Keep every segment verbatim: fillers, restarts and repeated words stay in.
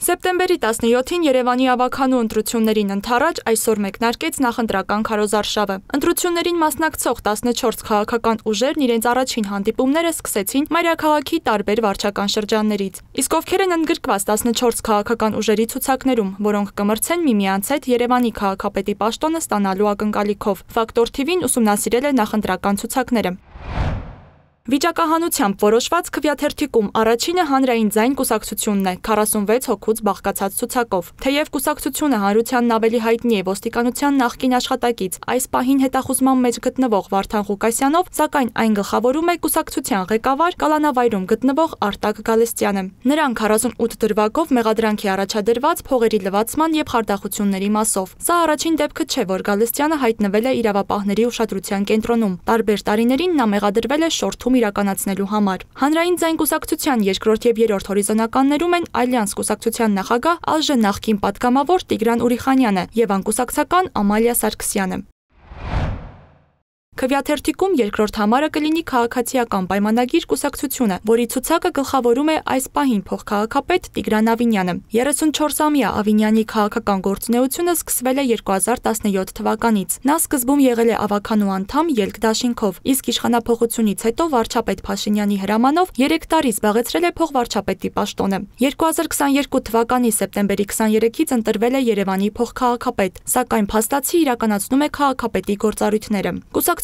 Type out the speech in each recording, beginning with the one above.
Սեպտեմբերի տասնյոթին Երևանի ավագանու ընտրություններին ընդառաջ այսօր մեկնարկեց նախընտրական քարոզարշավը։ Ընտրություններին մասնակցող տասնչորս քաղաքական ուժերն իրենց առաջին հանդիպումները սկսեցին մայրաքաղաքի տարբեր վարչական շրջաններից։ Իսկ ովքեր են ընդգրկված տասնչորս քաղաքական ուժերի ցուցակներում, որոնք կմրցեն միմյանց հետ Երևանի քաղաքապետի պաշտոնը ստանալու ակնկալիքով։ Ֆակտոր թի վին ուսումնասիրել է նախընտրական ցուցակները։ Վիճակահանությամբ որոշված քվեաթերթիկում առաջինը հանրային ձայն կուսակցությունն է քառասունվեց հոգուց բաղկացած ցուցակով։ Թեև կուսակցությունը հանրությանն ավելի հայտնի է ոստիկանության նախկին աշխատակից, այս պահին հետախուզման մեջ գտնվող Վարդան Ղուկասյանով, սակայն այն գլխավորում է կուսակցության ղեկավար կալանավայրում գտնվող Արտակ Գալստյանը։ Նրան քառասունութ դրվագով մեղադրանք է առաջադրված փողերի լվացման եւ խարդախությունների մասով։ Սա առաջին դեպքը չէ, որ Գալստյանը հայտնվել է իրավապահների ուշադրության կենտրոնում։ Տարբեր տարիներին նա մեղադրվել է շորթում իրականացնելու համար։ Հանրային ձայն կուսակցության երկրորդ եւ երրորդ հորիզոնականներում են Ալյանս կուսակցության նախագահ ԱԺ նախկին պատգամավոր Տիգրան Ուրիխանյանը եւ անկուսակցական Ամալիա Սարգսյանը։ Քվեաթերթիկում երկրորդ համարը կլինի քաղաքացիական պայմանագիր կուսակցությունը, որի ցուցակը գլխավորում է այս պահին փոխքաղաքապետ Տիգրան Ավինյանը։ երեսունչորսամյա Ավինյանի քաղաքական գործունեությունը սկսվել է երկու հազար տասնյոթ թվականից։ Նա սկզբում եղել է ավագանու անդամ ելք դաշինքով, իսկ իշխանափոխությունից հետո վարչապետ Փաշինյանի հրամանով երեք տարի զբաղեցրել է փոխվարչապետի պաշտոնը։ երկու հազար քսաներկու թվականի սեպտեմբերի քսաներեքից ընտրվել է Երևանի փոխքաղաքապետ, սակայն փաստացի իրականացնում է քաղաքապետի գործառույթները։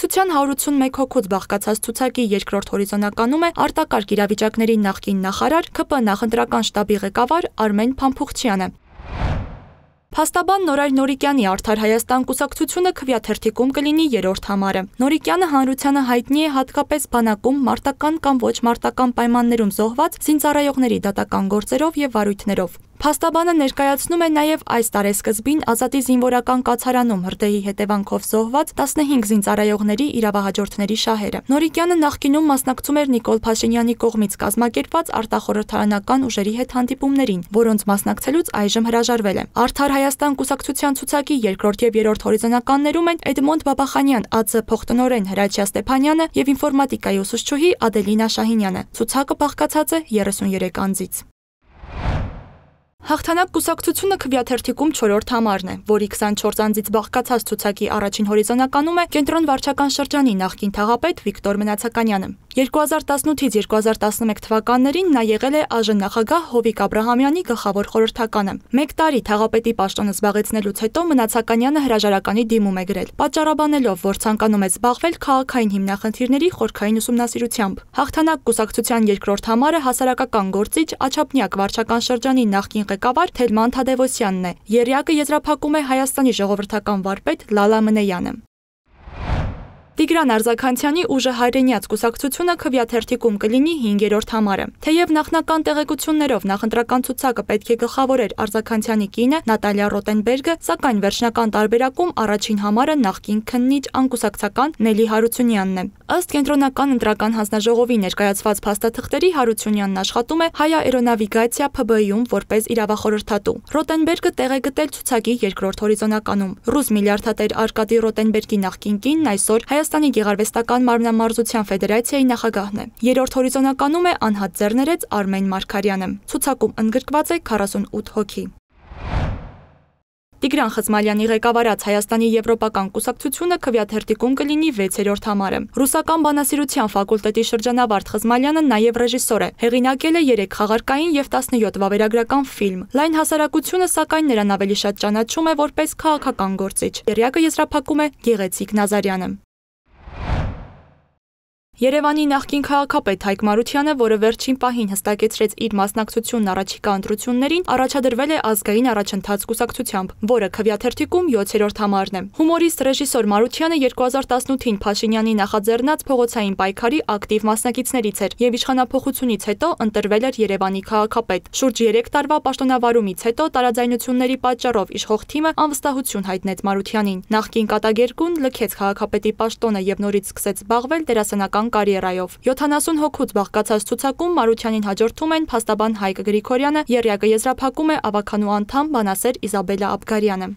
Կուսակցության հարյուր ութսունմեկ հոգուց բաղկացած ցուցակի երկրորդ հորիզոնականում է արտակարգ իրավիճակների նախկին նախարար ՔՊ նախընտրական շտաբի ղեկավար Արմեն Փամփուխչյանը։ Փաստաբան Նորայր Նորիկյանի Արդար Հայաստան կուսակցությունը քվեաթերթիկում կլինի երրորդ համարը։ Նորիկյանը հանրությանը հայտնի է հատկապես բանակում մարտական կամ ոչ մարտական պայմաններում զոհված զինծառայողների դատական գործերով եւ վարույթներով։ Փաստաբանը ներկայացնում է նաև այս տարեսկզբին Ազատի զինվորական կացարանում հրդեհի հետևանքով զոհված տասնհինգ զինծառայողների իրավահաջորդների շահերը։ Նորիկյանը նախկինում մասնակցում էր Նիկոլ Փաշինյանի կողմից կազմակերպված արտախորհրդարանական ուժերի հետ հանդիպումներին, որոնց մասնակցելուց այժմ հրաժարվել է։ Արդար Հայաստան կուսակցության ցուցակի երկրորդ եւ երրորդ հորիզոնականներում են Էդմոնդ Բաբախանյան ԱԾ փոխտնօրեն Հրաչյա Ստեփանյանը եւ ինֆորմատիկայի ուսուցչուհի Ադելինա Շահինյանը։ Ցուցակը բաղկացած է երեսուներեք անձից։ Հաղթանակ կուսակցությունը քվեաթերթիկում չորրորդ համարն է, որի քսանչորս անձից բաղկացած ցուցակի առաջին հորիզոնականում է Կենտրոն վարչական շրջանի նախկին թաղապետ Վիկտոր Մնացականյանը։ երկու հազար տասնութից երկու հազար տասնմեկ թվականներին նա եղել է ԱԺ նախագահ Հովիկ Աբրահամյանի գլխավոր խորհրդականը։ Մեկ տարի թաղապետի պաշտոնը զբաղեցնելուց հետո Մնացականյանը հրաժարականի դիմում է գրել, պատճառաբանելով, որ ցանկանում է զբաղվել քաղաքային հիմնախնդիրների խորքային ուսումնասիրությամբ։ Հաղթանակ կուսակցության երկրորդ համարը հասարակական գործիչ Աչափնյակ վարչական շրջանի նախկին ղեկավար Թելման Թադևոսյանն է։ Եռյակը եզրափակում է Հայաստանի ժողովրդական վարպետ Լալա Մնեյանը։ Տիգրան Արձաքանցյանի ուժը հայրենյաց կուսակցությունը քվեաթերթիկում կլինի հինգերորդ համարը։ Թեև նախնական տեղեկություններով նախընտրական ցուցակը պետք է գլխավորեր Արձաքանցյանի կինը Նատալիա Ռոտենբերգը, սակայն վերջնական տարբերակում առաջին համարը նախկին քննիչ անկուսակցական Նելի Հարությունյանն է։ Ըստ կենտրոնական ընտրական հանձնաժողովի ներկայացված փաստաթղթերի Հարությունյանն աշխատում է Հայաէրոնավիգացիա ՓԲ-ում որպես իրավախորհրդատու։ Ռոտենբերգը տեղ է գտել ցուցակի երկրորդ հորիզոնականում։ Ռուս միլիարդատեր Արկադի Ռոտենբերգի նախկին կինն այսօր Հայաստանի գեղարվեստական մարմնամարզության ֆեդերացիայի նախագահն է։ Երրորդ հորիզոնականում է անհատ ձեռներեց Արմեն Մարգարյանը։ Ցուցակում ընդգրկված է քառասունութ հոգի։ Տիգրան Խզմալյանի ղեկավարած Հայաստանի եվրոպական կուսակցությունը քվեաթերթիկում կլինի վեցերորդ համարը։ Ռուսական բանասիրության ֆակուլտետի շրջանավարտ Խզմալյանը նաև ռեժիսոր է։ Հեղինակել է երեք խաղարկային եւ տասնյոթ վավերագրական ֆիլմ։ Լայն հասարակությունը սակայն նրան ավելի շատ ճանաչում է որպես քաղաքական գործիչ։ Եռյակը եզրափակում է Գեղեցիկ Նազարյանը։ Երևանի նախկին քաղաքապետ Հայկ Մարությանը, որը վերջին պահին հստակեցրեց իր մասնակցությունն առաջիկա ընտրություններին, առաջադրվել է ազգային առաջընթաց կուսակցությամբ, որը քվեաթերթիկում յոթերորդ համարն է։ Հումորիստ ռեժիսոր Մարությանը երկու հազար տասնութին Փաշինյանի նախաձեռնած փողոցային պայքարի ակտիվ մասնակիցներից էր եւ իշխանափոխությունից հետո ընտրվել էր Երևանի քաղաքապետ։ Շուրջ երեք տարվա պաշտոնավարումից հետո տարաձայնությունների պատճառով իշխող թիմը անվստահություն հայտնեց Մարությանին։ Նախկին կատագերգուն լքեց քաղաքապետի պաշտոնը եւ նորից սկսեց զբաղվել դերասանական կարիերայով։ յոթանասուն հոգուց բաղկացած ցուցակում Մարությանին հաջորդում են փաստաբան Հայկ Գրիգորյանը, եռյակը եզրափակում է ավագանու անդամ բանասեր Իզաբելա Աբգարյանը։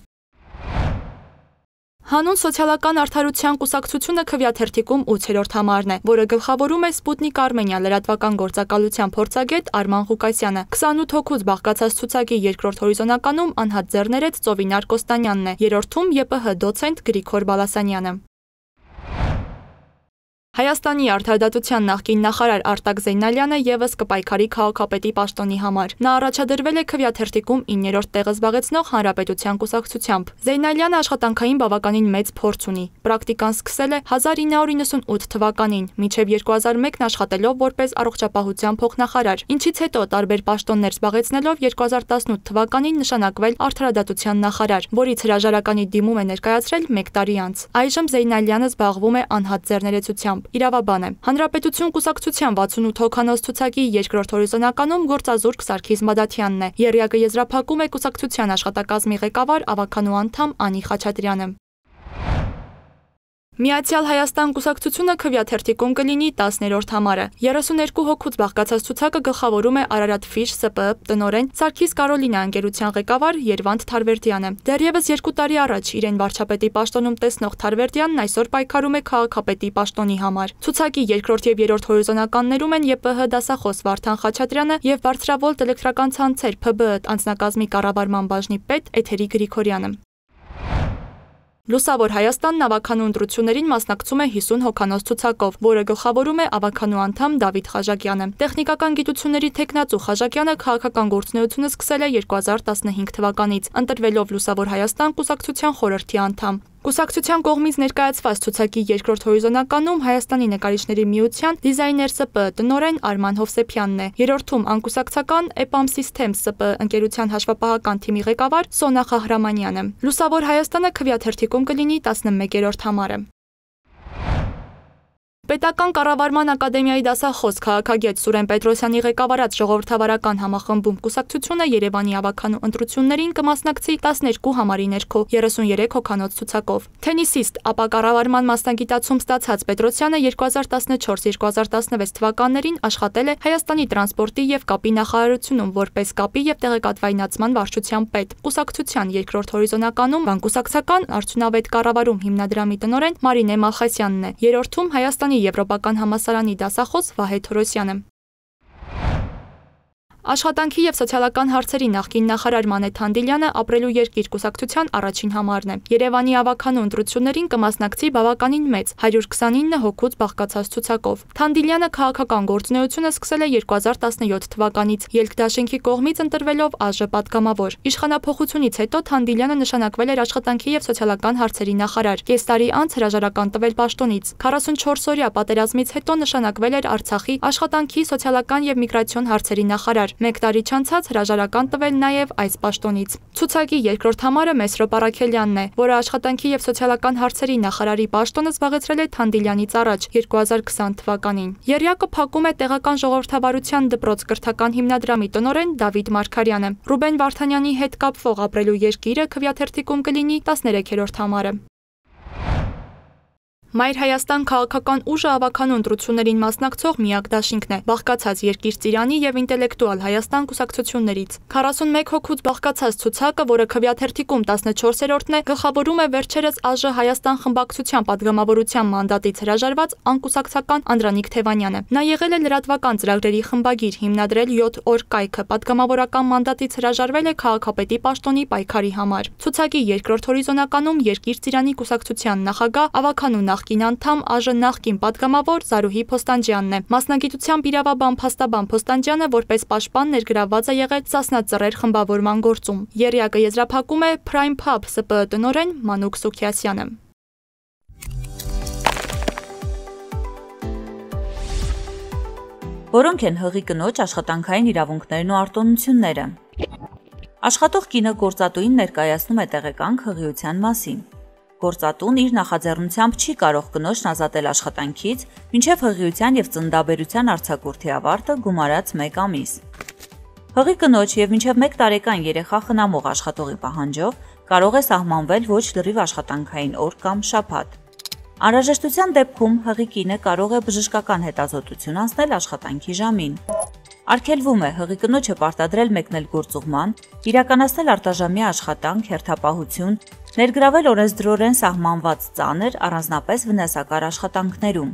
Հանուն սոցիալական արդարության կուսակցությունը քվեաթերթիկում ութերորդ համարն է, որը գլխավորում է Սպուտնիկ Արմենիա լրատվական գործակալության փորձագետ Արման Ղուկասյանը։ քսանութ հոգուց բաղկացած ցուցակի երկրորդ հորիզոնականում անհատ ձեռներեց Ծովինար Կոստանյանն է, երրորդում ԵՊՀ դոցենտ Գրիգոր Բալասանյանը։ Հայաստանի արդարադատության նախկին նախարար Արտակ Զեյնալյանը ևս կպայքարի քաղաքապետի պաշտոնի համար։ Նա առաջադրվել է քվեաթերթիկում իններորդ տեղը զբաղեցնող Հանրապետության կուսակցությամբ։ Զեյնալյանը աշխատանքային բավականին մեծ փորձ ունի։ Պրակտիկան սկսել է հազար ինը հարյուր իննսունութ թվականին, մինչև երկու հազար մեկ աշխատելով որպես առողջապահության փոխնախարար, ինչից հետո տարբեր պաշտոններ զբաղեցնելով երկու հազար տասնութ թվականին նշանակվել արդարադատության նախարար, որից հրաժարականի դիմում է ներկայացրել մեկ տարի անց։ Այժմ Զեյնալյանը զբաղվում է անհատ ձեռներեցությամբ։ Իրավաբան է։ Հանրապետություն կուսակցության վաթսունութ հոգանոց ցուցակի երկրորդ հորիզոնականում գործազուրկ Սարգիս Մադաթյանն է։ Եռյակը եզրափակում է կուսակցության աշխատակազմի ղեկավար ավականու անդամ Անի Խաչատրյանը։ Միացյալ Հայաստան կուսակցությունը քվեաթերթիկում կլինի տասներորդ համարը։ երեսուներկու հոգուց բաղկացած ցուցակը գլխավորում է Արարատ Ֆիշ ՍՊԸ տնօրեն Սարգիս Կարոլինա ընկերության ղեկավար Երվանդ Թարվերդյանը։ Դեռևս երկու տարի առաջ իրեն վարչապետի պաշտոնում տեսնող Թարվերդյանն այսօր պայքարում է քաղաքապետի պաշտոնի համար։ Ցուցակի երկրորդ եւ երրորդ հորիզոնականներում են ԵՊՀ դասախոս Վարդան Խաչատրյանը եւ բարձրավոլտ էլեկտրական ցանցեր ՓԲԸ անձնակազմի կառավարման բաժնի պետ Էթերի Գրիգորյանը։ Լուսավոր Հայաստանն ավականու ընտրություններին մասնակցում է հիսուն հոգանոց ցուցակով, որը գլխավորում է ավականու անդամ Դավիթ Խաժակյանը։ Տեխնիկական գիտությունների թեկնածու Խաժակյանը քաղաքական գործունեությունը սկսել է երկու հազար տասնհինգ թվականից, ընտրվելով Լուսավոր Հայաստան կուսակցության խորհրդի անդամ։ Կուսակցության կողմից ներկայացված ցուցակի երկրորդ հորիզոնականում Հայաստանի նկարիչների միության դիզայներ ՍՊԸ տնօրեն Արման Հովսեփյանն է։ Երրորդում անկուսակցական Էպամ Systems ՍՊԸ ընկերության հաշվապահական թիմի ղեկավար Սոնա Խահրամանյանը։ Լուսավոր Հայաստանը քվեաթերթիկում կլինի տասնմեկերորդ համարը։ Պետական կառավարման ակադեմիայի դասախոս քաղաքագետ Սուրեն Պետրոսյանի ղեկավարած ժողովրդավարական համախմբում կուսակցությունը Երևանի ավականու ընտրություններին կմասնակցի տասներկու համարի ներքո երեսուներեք հոգանոց ցուցակով։ Թենիսիստ, ապա կառավարման մասնագիտացում ստացած Պետրոսյանը երկու հազար տասնչորս երկու հազար տասնվեց թվականներին աշխատել է Հայաստանի տրանսպորտի եւ կապի նախարարությունում որպես կապի եւ տեղեկատվայնացման վարչության պետ։ Կուսակցության երկրորդ հորիզոնականում բանկուսակցական արդյունավետ կառավարում հիմնադրամի տնօրեն Մարինե Մալխասյանն է։ Երրորդում Հայաստանի Եվրոպական համալսարանի դասախոս Վահե Թորոսյանը։ Աշխատանքի եւ սոցիալական հարցերի նախկին նախարար Մանեթ Թանդիլյանը ապրելու երկիր կուսակցության առաջին համարն է։ Երևանի ավականու ընտրություններին կմասնակցի բավականին մեծ հարյուր քսանինը հոգուց բաղկացած ցուցակով։ Թանդիլյանը քաղաքական գործունեությունը սկսել է երկու հազար տասնյոթ թվականից, ելք դաշինքի կողմից ընտրվելով ԱԺ պատգամավոր։ Իշխանափոխությունից հետո Թանդիլյանը նշանակվել էր աշխատանքի եւ սոցիալական հարցերի նախարար։ Կես տարի անց հրաժարական տվել պաշտոնից։ քառասունչորս օրյա պատերազմից հետո նշանակվել էր Արցախի աշխատանքի, սոցիալական եւ միգրացիոն հարցերի նախարար։ Մեկ տարի չանցած հրաժարական տվել նաև այս պաշտոնից։ Ցուցակի երկրորդ համարը Մեսրոպ Արաքելյանն է, որը աշխատանքի եւ սոցիալական հարցերի նախարարի պաշտոնը զբաղեցրել է Թանդիլյանից առաջ երկու հազար քսան թվականին։ Եռյակը փակում է տեղական ժողովրդավարության դպրոց կրթական հիմնադրամի տնօրեն Դավիթ Մարգարյանը։ Ռուբեն Վարդանյանի հետ կապվող ապրելու երկիրը քվեաթերթիկում կլինի տասներեքերորդ համարը։ Մայր Հայաստան քաղաքական ուժը ավականու ընտրություններին մասնակցող միակ դաշինքն է, բաղկացած Երկիր Ծիրանի եւ Ինտելեկտուալ Հայաստան կուսակցություններից։ քառասունմեկ հոգուց բաղկացած ցուցակը, որը քվեաթերթիկում տասնչորսերորդն է, գլխավորում է վերջերս ԱԺ Հայաստան խմբակցության падգամավորության մանդատից հրաժարված անկուսակցական Անդրանիկ Թևանյանը։ Նա եղել է լրատվական ծրագրերի խմբագիր, հիմնադրել յոթ օր կայքը, падգամավորական մանդատից հրաժարվել է քաղաքապետի պաշտոնի պայքարի համար։ Ցուցակի երկրորդ հորիզոնականում Երկիր Ծիրանի կուսակցության նախագահ ավականու նախկին անդամ ԱԺ նախկին падգամավոր Զարուհի Փոստանջյանն է։ Մասնագիտությամբ իրավաբան Փաստաբան Փոստանջյանը որպես պաշտպան ներգրավված է եղել Սասնա Ծռեր խմբավորման գործում։ Եռյակը եզրափակում է Prime Pub ՍՊԸ տնօրեն Մանուկ Սուքիասյանը։ Որոնք են հղի կնոջ աշխատանքային իրավունքներն ու արտոնությունները։ Աշխատող կինը գործատուին ներկայացնում է տեղեկանք հղիության մասին։ Գործատուն իր նախաձեռնությամբ չի կարող կնոջն ազատել աշխատանքից, մինչև հղիության եւ ծննդաբերության արձակուրդի ավարտը գումարած մեկ ամիս։ Հղի կնոջ եւ մինչև մեկ տարեկան երեխա խնամող աշխատողի պահանջով կարող է սահմանվել ոչ լրիվ աշխատանքային օր կամ շաբաթ։ Անհրաժեշտության դեպքում հղի կինը կարող է բժշկական հետազոտություն անցնել աշխատանքի ժամին։ Արգելվում է հղի կնոջը պարտադրել մեկնել գործուղման, իրականացնել արտաժամյա աշխատանք, հերթապահություն, ներգրավել օրենսդրորեն սահմանված ծանր, առանձնապես վնասակար աշխատանքներում։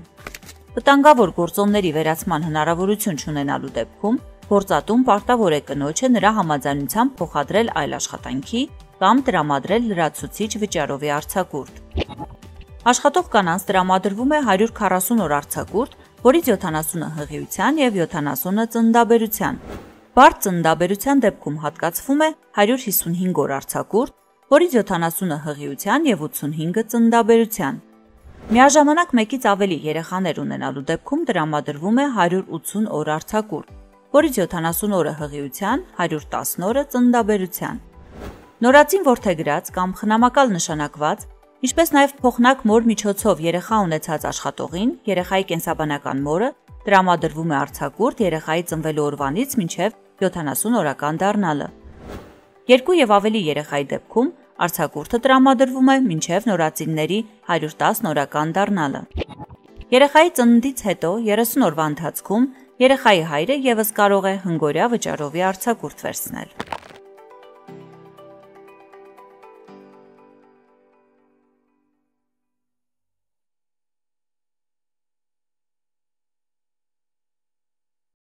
Վտանգավոր գործոնների վերացման հնարավորություն չունենալու դեպքում գործատուն պարտավոր է կնոջը նրա համաձայնությամբ փոխադրել այլ աշխատանքի կամ տրամադրել լրացուցիչ վճարովի արձակուրդ։ Աշխատող կանանց տրամադրվում է հարյուր քառասուն օր արձակուրդ, որից յոթանասունը հղիության և յոթանասունը ծննդաբերության։ Բարդ ծննդաբերության դեպքում հատկացվում է հարյուր հիսունհինգ օր արձակուրդ, որից յոթանասունը հղիության և ութսունհինգը ծննդաբերության։ Միաժամանակ մեկից ավելի երեխաներ ունենալու դեպքում տրամադրվում է հարյուր ութսուն օր արձակուրդ, որից յոթանասուն օրը հղիության, հարյուր տասն օրը ծննդաբերության։ Նորածին որդեգրած կամ խնամակալ նշանակված, ինչպես նաև փոխնակ մոր միջոցով երեխա ունեցած աշխատողին, երեխայի կենսաբանական մորը տրամադրվում է արձակուրդ երեխայի ծնվելու օրվանից մինչև յոթանասուն օրական դառնալը։ Երկու եւ ավելի երեխայի դեպքում արձակուրդը տրամադրվում է մինչև նորածինների հարյուր տասն օրական դառնալը։ Երեխայի ծննդից հետո երեսուն օրվա ընթացքում երեխայի հայրը եւս կարող է հնգօրյա վճարովի արձակուրդ վերցնել։